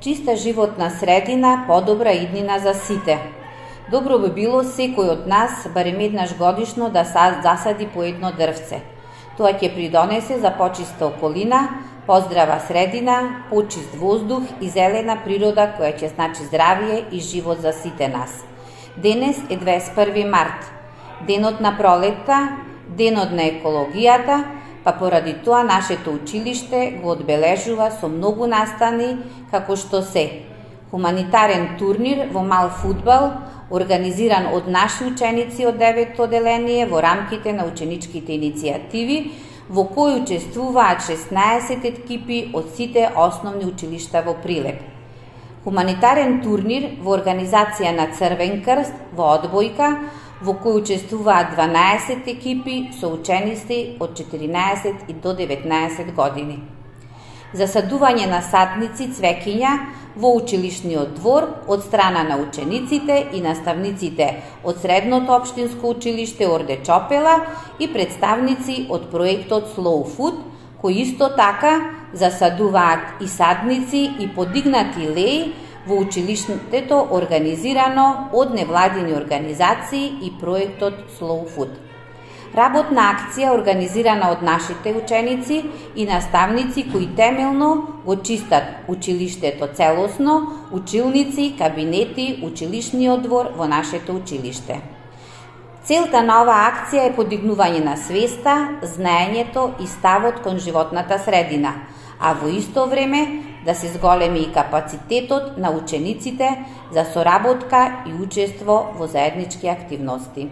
Чиста животна средина, подобра иднина за сите. Добро би било секој од нас барем еднаш годишно да засади по едно дрвце. Тоа ќе придонесе за почиста околина, поздрава средина, почист воздух и зелена природа која ќе значи здравие и живот за сите нас. Денес е 21 март, денот на пролетта, денот на екологијата, па поради тоа нашето училиште го одбележува со многу настани како што се хуманитарен турнир во мал фудбал, организиран од наши ученици од 9-то одделение во рамките на ученичките иницијативи, во кој учествуваат 16 екипи од сите основни училишта во Прилеп. Хуманитарен турнир во организација на Црвен крст во одбојка, во кој учествуваат 12 екипи со ученици од 14 и до 19 години. Засадување на садници цвеќиња во училишниот двор од страна на учениците и наставниците од Средното општинско училиште Орде Чопела и представници од проектот Slow Food, кои исто така засадуваат и садници и подигнати леи во училиштето организирано од невладини организации и проектот Slow Food. Работна акција организирана од нашите ученици и наставници кои темелно го чистат училиштето целосно, училници, кабинети, училишниот двор во нашето училиште. Целта на оваа акција е подигнување на свеста, знаењето и ставот кон животната средина, а во исто време да се зголеми и капацитетот на учениците за соработка и учество во заеднички активности.